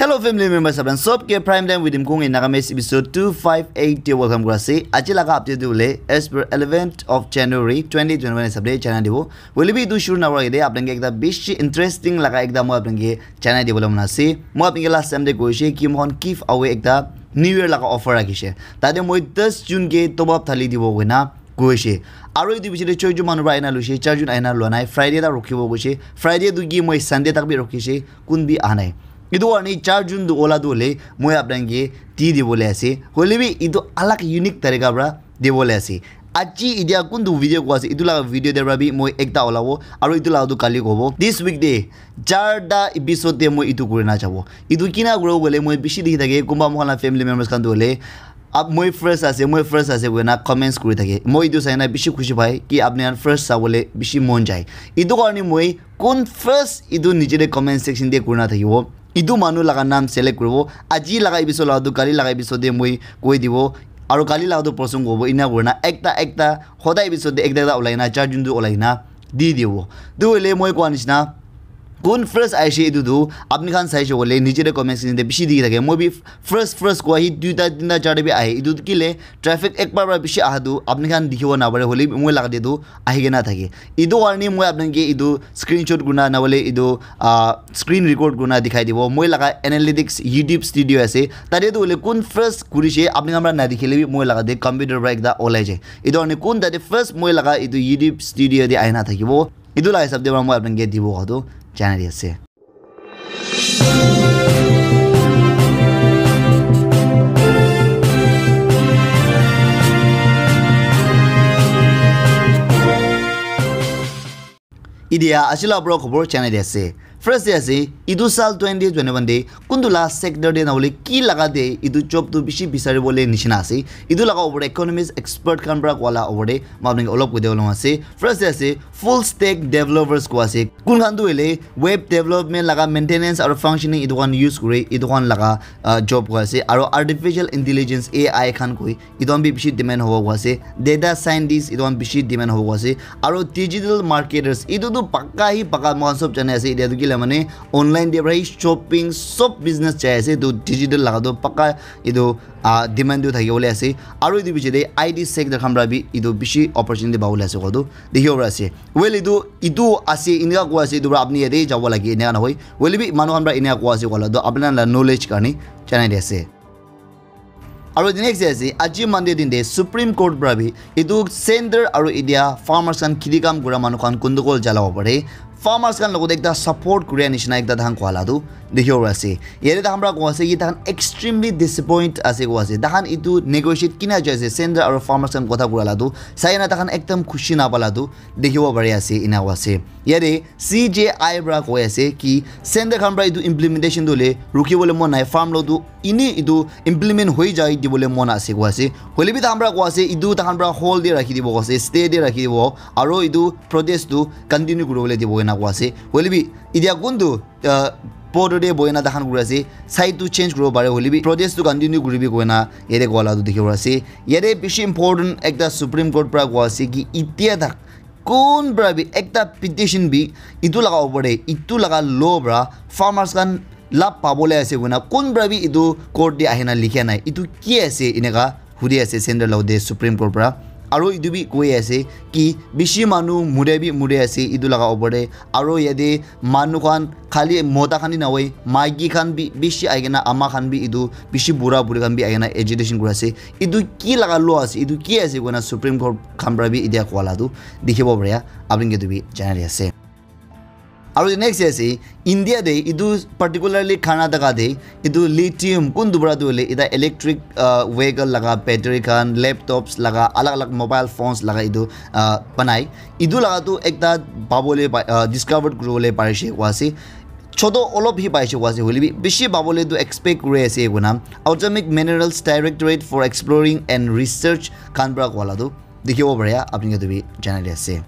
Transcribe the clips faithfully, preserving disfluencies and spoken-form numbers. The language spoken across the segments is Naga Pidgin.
Hello family members, apni sob ke Prime Time with Imkung in Nagamese episode two five eight te welcome kura ase. Aji laga update tu le as per eleventh of January twenty twenty-one hisab te jana dibo. Hoile bi etu shuru na kura ite apni ke ekta bishi interesting laga ekta moi apni ke jana dibole mon ase. Moi apni ke last time te koise ki moi khan giveaway ekta New Year laga offer rakhishe. Tate moi ten June ke top up thali dibo koina koise. Aro etu bichore choi jon manu para aina loise, char jon aina lua nai. Friday ta rukhibo koise. Friday tu ki moi Sunday tak bi rukhishe, kun bi aha nai. Etu karne char jon tu ola tu hole moi apni ke di dibole ase. Hoile bi etu alag unique tarika para dibole ase. Aji etia kuntu video koi ase, etu laga video te para bi moi ekta olabo, aro etu laga tu kali kobo. This week te charta episode te moi etu kuri na jabo. Etu kina kuri bole moi bishi dikhi thake, kunba moi khan la family members khan tu hole, ab moi first ase, moi first ase koina comments kuri thake. Moi etu sai na bishi khushi pai ki apni khan first sabole bishi mon jai. Etu karne moi kun first etu niche te comment section te kuri na thakibo. Etu manu laga naam select kuribo. Aji laga episode laga tu kali laga episode te moi koi dibo. Aro kali laga tu person kobo. Ena kurina ekta ekta hodai episode te ekta ekta ulai na char jon tu ulai na di dibo. Tu hoile moi koa nishina kun first aishe etu tu apni khan saishe koile niche te comment section te bishi dikhi thake. Moi bi first first koa hi duita tinta charta bi ahe. Etu tu kile traffic ekbar para bishi aha tu apni khan dikhibo napare, hoile bi moi laga te tu ahi kena thake. Etu karne moi apni ke etu screenshot kurina na hoile etu ah, screen record kurina dikhai dibo. Moi laga analytics YouTube studio ase. Tate tu hoile kun first kurishe apni khan para na dikhile bi moi laga te computer para ekta olai jai. Etu karne kun tate first moi laga etu YouTube studio te aina thakibo. Etu laga hisab te para moi apni ke dibo koa tu janai di ase. Idia aji laga pura khobor janai di ase. First te ase, etu sal twenty twenty-one te kuntu laga sector te na hoile ki laga te etu job tu bishi bisari bole nishina ase. Etu laga opor te economist expert khan para koa laga opor te moi apni ke olop koi dibo ase. First te ase, full stack developers koa ase. Kun khan tu hoile web development laga maintenance aro functioning etu khan use kuri, etu khan laga, ah, job koa ase. Aro artificial intelligence A I khan koi etu khan bi bishi demand hobo koa ase. Data scientist etu khan bishi demand hobo koa ase. Aro digital marketers etu tu paka hi paka moi khan sob jane ase. Etia tu kila mane online te para hi shopping sob business jai ase. Etu digital laga tu paka etu, ah, demand tu thaki bole ase. Aro etu biche te I T sector khan para bi etu bishi opportunity pabole ase koa tu dikhibo para ase. Well, etu, etu ase, eneka koa ase, etu para apni yate jabo lage, eneka nohoi. Hoile bi manu khan para eneka koa ase koa la tu apni khan la knowledge karne janai di ase. Aro the next day ase, aji Monday din te Supreme Court para bi etu center aro India farmers khan kheti kam kura manu khan gundugol jalabo pare. Farmers khan logot ekta support kuria nishina ekta tahan koa la tu dikhibo pari ase. Yate tahan para koa ase ki tahan extremely disappoint ase koa ase. Tahan etu negotiate kina jai ase center aro farmers khan kotha kura la tu sai na tahan ekdam khushi na pala tu dikhibo pari ase, ena koa ase. Yate C J I para koi ase ki center khan para etu implementation tu le rukhi bole mon nai, farm law tu eni etu implement hoi jai dibole mon ase koa ase. Hoile bi tahan para koa ase etu tahan para hold te rakhi dibo koa ase, stay te rakhi dibo, aro etu protest tu continue kuri bole dibo ena koa ase. Hoile bi etia kuntu, ah, border te bohi na tahan kuri ase, side tu change kuri bo pare, hoile bi protest tu continue kuri bi koina yate koa la tu dikhibo pari ase. Yate bishi important ekta Supreme Court para koa ase ki etia tak kun para bi ekta petition bi etu laga opor te, etu laga law para farmers khan lab pabole ase koina kun para bi etu court te ahina likha nai. Etu ki ase eneka hudi ase center logot te Supreme Court para. Aro etu bi koi ase ki bishi manu mure bi mure ase etu laga opor te. Aro yate manu khan khali mota khan hi nahoi, maiki khan bi bishi ahi kena, ama khan bi etu bishi bura buri khan bi ahi kena agitation kuri ase. Etu ki laga law ase, etu ki ase koina Supreme Court khan para bi etia koa la tu dikhibo pare, apni ke tu bi janai di ase. Aro next ase, India te etu particularly Karnataka te etu lithium kuntu para tu hoile eta electric, ah, vehicle laga battery khan, laptops laga, alag alag mobile phones laga etu, ah, banai. Etu laga tu ekta pabole pa-, ah, discovered kuri bole parishe koa ase. Choto olop hi paishe koa ase, hoile bi bishi pabole tu expect kuri ase koina Atomic Minerals Directorate for Exploring and Research khan para koa la tu dikhibo pare, apni ke tu bi janai di ase.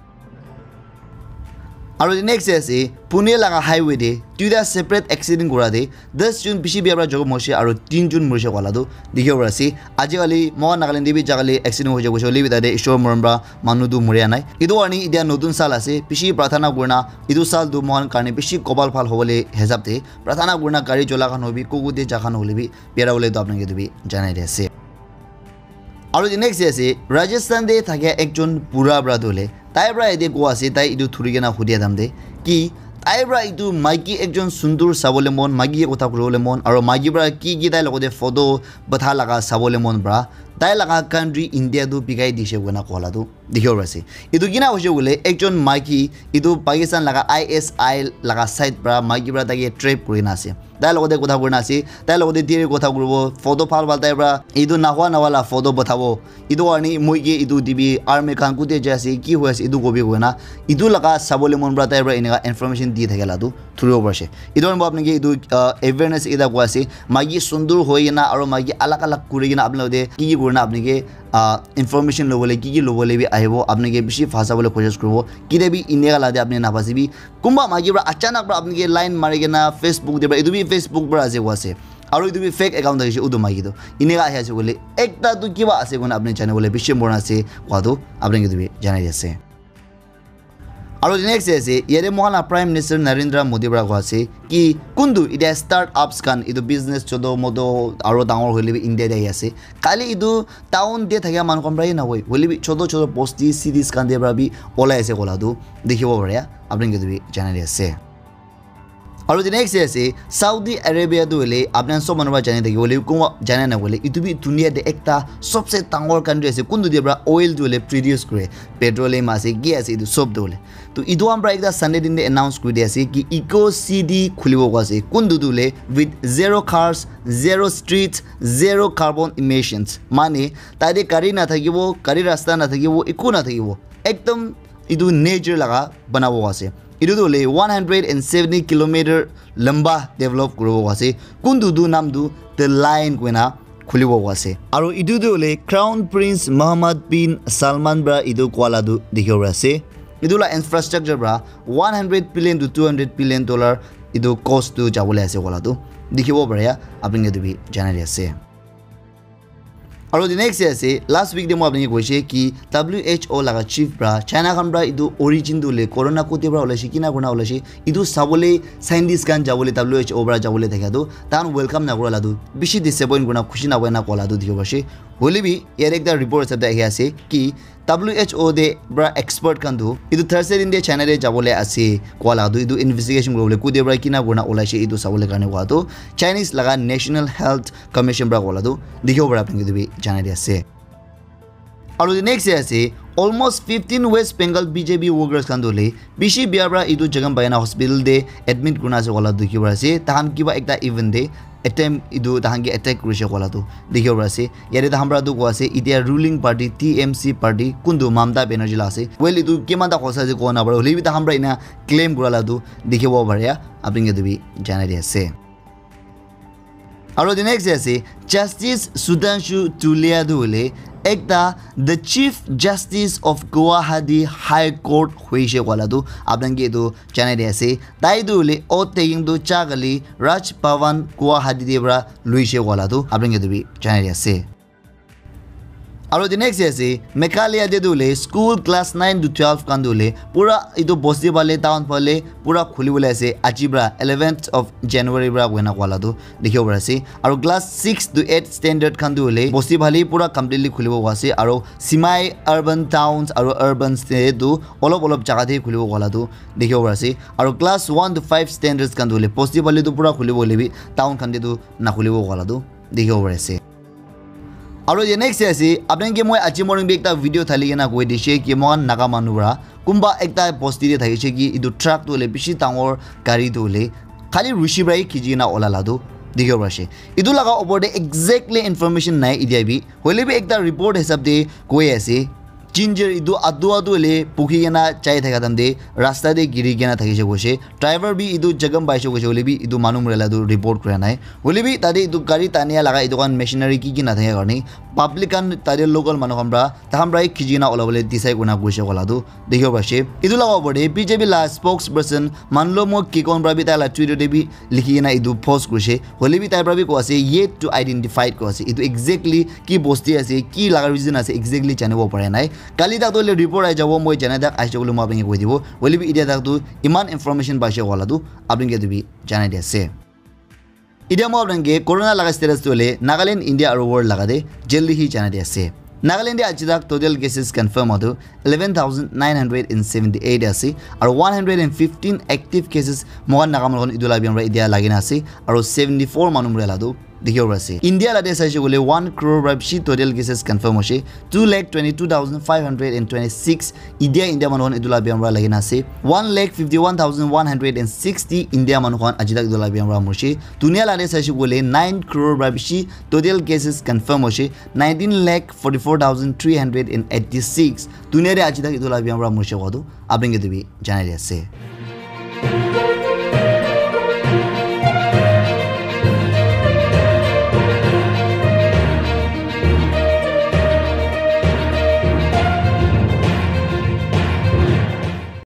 Aru the next day ase, Pune laga highway te duita separate accident kura te das jun bishi bia para jokhom hoise aru tin jun morise koa la tu dikhibo pari ase. Ajikali moikhan Nagaland te bi jakali accident hoise koise hoile bi tate Ishwar morom para manu tu moria nai. Etu karne etia notun saal ase, bishi prarthana kurina etu saal tu moikhan karne bishi kopal bhal hobole hisab te prarthana kurina gari chola khan hobi, kuku te ja khan hoile bi biara bole tu apnake tu bi janai di ase. Aru the next day ase, Rajasthan te thakia ekjon bura para tu hoile tai para yate koa ase, tai etu thuri kena hudia time te ki tai para etu maiki ekjon sundur sabole mon, maiki ke kotha kuribole mon, aru maiki para ki ki tai logote photo batha laga sabole mon para tai laga country India tu bikai dishe koina koa la tu dikhibo pari ase. Etu kina hoise koile ekjon maiki etu Pakistan laga I S I laga side para maiki para tai ke trap kuri kena ase. Tai logote kotha kurina ase, tai logote diri kotha kuribo, photo bhal bhal tai para etu nahwa nahwa la photo bathabo. Etu karne moi ke etu dibi army khan kute jai ase, ki hoi ase etu kobi koina etu laga sabole mon para tai para eneka information di thake la tu thuribo pari ase. Etu karne apnake etu ah, awareness ekta koa ase, maiki sundur hoi kena aru maiki alag alag kuri kena apni logote ki ki kurina apnake ah, information lobole ki ki lobole bi ahibo, apnake bishi phasa bole koshish kuribo. Kite bi eneka la te apni napasi bi kunba maiki para achanak para apnake line mari kena Facebook te para, etu bi Facebook para ase koa ase aru etu bi fake account thakise utu maiki tu eneka ahi ase koile ekta tu kiba ase koina apni jane bole bishi mon ase koa tu apnake etu bi janai di ase. Aru the next day ase, yate moikhan la Prime Minister Narendra Modi para koa ase ki kuntu etia start ups khan etu business choto moto aru dangor hoile bi India te ahi ase. Kali etu town te thakia manu khan para he nahoi, hoile bi choto choto bosti cities khan te para bi olai ase koa la tu dikhibo pare, apnake etu bi janai di ase. Aru the next day ase, Saudi Arabia tu hoile apni khan sob manu para jani thaki hoile kunba jana na hoile etu bi dunia te ekta sobse dangor country ase, kuntu te para oil tu hoile produce kure, petroleum ase, ki ase, etu sob tu hoile. To etu khan para ekta Sunday din te announce kuri di ase ki eco city khulibo koa ase, kuntu tu hoile with zero cars, zero streets, zero carbon emissions, mane tate gari na thakibo, gari rasta na thakibo, eku na thakibo, ekdom etu nature laga banabo ase. Etu tu hoile one hundred and seventy kilometer lamba develop kuribo ase. Kuntu tu nam tu The Line koina khulibo ase. Aru etu tu hoile Crown Prince Mohammed bin Salman para etu koa la tu dikhibo pari ase. Etu la infrastructure para one hundred billion to two hundred billion dollar etu cost tu jabole ase koa la tu dikhibo pare, apnake etu bi janai di ase. Aru the next day ase, last week te moi apnake koise ki W H O laga chief para China khan para etu origin tu hoile corona kote para olaise, kina kurina olaise, etu sabole scientist khan jabole W H O para jabole thakia tu tahan welcome na kura la tu bishi disappoint kurina khushi na hoina koa la tu dikhibo pari ase. Hoile bi yate ekta report hisab te ahi ase ki W H O te para expert khan tu etu Thursday din te China te jabole ase koa la tu etu investigation kuribole kote para kina kurina olaise etu sabole karne koa tu Chinese laga National Health Commission para koa la tu dikhibo pare, apnake etu bi janai di ase. Aru the next day ase, almost fifteen West Bengal B J P workers khan tu hoile bishi bia para etu Jaganbayana hospital te admit kurina ase koa la dikhibo pari ase. Tahan kiba ekta event te attempt etu tahan ke attack kurise koa la tu dikhibo pari ase. Yate tahan para tu koa ase etia ruling party T M C party kuntu Mamata Banerjee la ase. Well, etu kiman ta hosa ase koa na pare, hoile bi tahan para ena claim kura la tu dikhibo pare, apnake etu bi janai di ase. Aru the next day ase, Justice Sudhanshu Dhulia tu hoile ekta the Chief Justice of Guwahati High Court hoise koa la tu apnake etu janai di ase. Tai tu hoile oath taking tu cha kali Raj Bhavan Guwahati te para luise koa la tu apnake etu bi janai di ase. Aru the next day ase, Meghalaya te tu hoile school class nine to twelve khan tu hoile pura etu bosti phale town phale pura khuli bole ase aji para eleventh of January para koina koa la tu dikhibo pari ase. Aru class six to eight standard khan tu hoile bosti phale pura completely khulibo koa ase. Aru semi urban towns aru urban te tu olop olop jaga te khulibo koa la tu dikhibo pari ase. Aru class one to five standards khan tu hoile bosti phale tu pura khulibo hoile bi town khan te tu na khulibo koa la tu dikhibo pari ase. Aru the next day ase, apnake moi aji morning bi ekta video thali kena koi dishe ki moikhan Naga manu para kunba ekta bosti te thakise ki etu truck tu hoile bishi dangor gari tu hoile khali rushi para hi khichi kena ola la tu dikhibo pari ase. Etu laga opor te exactly information nai etia bi, hoile bi ekta report hisab te koi ase Ginger etu adu adu hoile pukhi kena jai thaka time te rasta te giri kena thakishe koishe. Driver bi etu jagam paishe koishe hoile bi etu manu mura la tu report kura nai. Hoile bi tate etu gari tania laga etu khan machinery ki ki nathaka karne public khan tate local manu khan pra tahan pra khichi kena olabole decide kurina koishe kola tu dikhibo paishe. Etu laga opor te B J P la spokesperson Manlomo Kikon pra bi tai la Twitter te bi likhi kena etu post kurishe. Hoile bi tai pra bi koi ase yet to identify koi ase. Etu exactly ki bosti ase, ki laga reason ase exactly janibo pare nai. Kali tak tu hoile report ahi jabo, moi janai tak ahi jabo moi apni ke koi dibo. Hoile bi etia tak tu iman information paishe kola tu apni ke tu bi janai di ase. Etia moi apni ke corona laga status tu hoile Nagaland, India aru world laga te jaldi hi janai di ase. Nagaland te aji tak total cases confirm hotu eleven thousand nine hundred and seventy eight ase aru one hundred and fifteen active cases mohan Naga manu khan etu la biam pra etia lagi na ase aru seventy four manu mura la tu dikhibo pari ase. India la te saishe koile one crore pra bishi total cases confirm hoishe, two lakh twenty two thousand five hundred and twenty six India India manu khan etu la biam pra lagi na ase, one lakh fifty one thousand one hundred and sixty India manu khan aji tak etu la biam pra morishe. Dunia la te saishe koile nine crore pra bishi total cases confirm hoishe, nineteen lakh forty four thousand three hundred and eighty six dunia te aji tak etu la biam pra morishe koa tu apni ke tu bi janai di ase.